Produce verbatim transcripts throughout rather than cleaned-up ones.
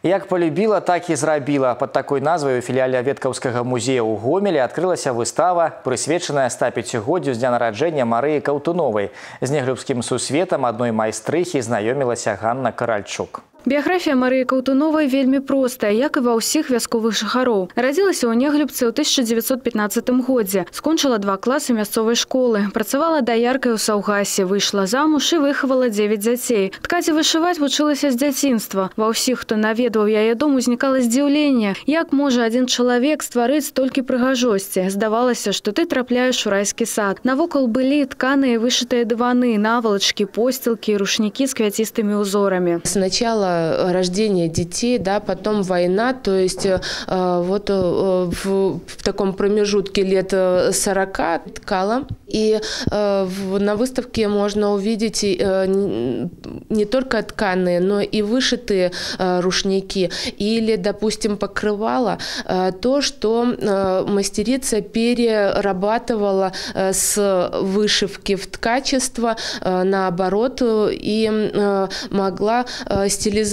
Як полюбила, так і зрабіла. Под такой назвай у філіяле Веткаўскага музея ў Гомелі адкрылася выстава, прысвечаная ста пяцігоддзю з дня нараджэння Марыі Каўтуновай. З неглюбскім сусветам адной майстрыхі знаёмілася Ганна Каральчук. Біяграфія Марыі Каўтуновай вельмі простая, як і ва ўсіх вясковых жыхароў. Радзілася ў Неглюбцы ў тысяча дзевяцьсот пятнаццатым годзе. Скончыла два класы мясцовай школы. Працавала даяркай у Саўгасе, выйшла замуж і выхавала дзевяць дзяцей. Ткаць і вышываць вучылася з дзяцінства. Ва ўсіх, хто наведваў яе дом, узнікала здзіўленне. Як можа адзін чалавек стварыць столькі прыгажосці? Здавалася, што ты трапляеш у райскі сад. Навокал былі тканыя вышытыя дываны, навалачкі, посцілкі, рушнікі з квяцістымі узорамі. Сначала рождение детей, да, потом война, то есть э, вот э, в, в таком промежутке лет сорока ткала. И э, в, на выставке можно увидеть э, не только тканые, но и вышитые э, рушники или, допустим, покрывала, э, то, что э, мастерица перерабатывала э, с вышивки в ткачество, э, наоборот, и э, могла э, стилизовать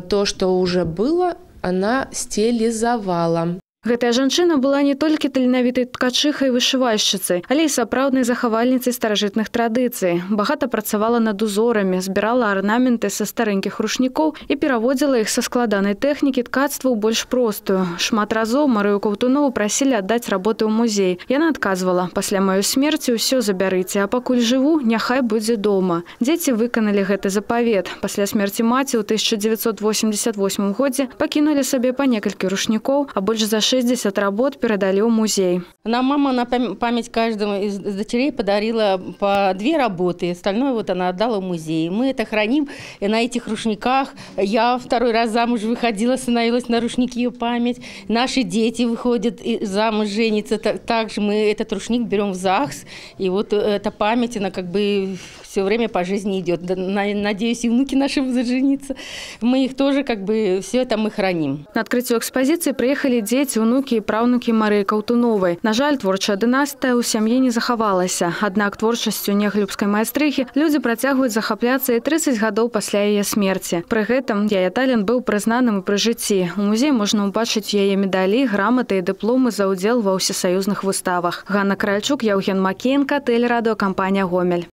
то, что уже было, она стилизовала. Гэтая жанчына была не толькі таленавітай ткачыхай і вышывальшчыцай, але і сапраўднай захавальніцай старажытных традыцый. Багата працавала над узорамі, збірала арнаменты са старэнькіх рушнікоў і пераводзіла іх са складанай тэхнікі ткацтва ў больш простую. Шмат разоў Марыю Каўтунову прасілі аддаць работы ў музей. Яна адказвала: «Пасля маёй смерці ўсё забярыце, а пакуль жыву, няхай будзе дома». Дзеці выканалі гэты запавет. Пасля смерці маці ў тысяча дзевяцьсот восемьдесят восьмым годзе пакінулі сабе па некалькі рушнікоў, а больш за шестьдесят работ передали в музей. Нам мама на память каждому из дочерей подарила по две работы. Остальное вот она отдала в музей. Мы это храним и на этих рушниках. Я второй раз замуж выходила, становилась на рушники ее память. Наши дети выходят замуж, женятся. Также мы этот рушник берем в ЗАГС. И вот эта память, она как бы все время по жизни идет. Надеюсь, и внуки наши будут жениться. Мы их тоже как бы, все это мы храним. На открытие экспозиции приехали дети, внуки і праўнукі Марыі Каўтуновай. На жаль, творчая дынастыя ў сям'і не захавалася. Аднак творчасцю неглюбскай майстрыхі людзі працягваюць захапляцца і трыццаць гадоў пасля яе смерці. Пры гэтым яе талент быў прызнаным і пры жыцці. У музеі можна ўбачыць яе медалі, граматы і дыпломы за ўдзел ва ўсесаюзных выставах. Ганна Каральчук, Яўген Макеенка, тэлерадыёкампанія «Гомель».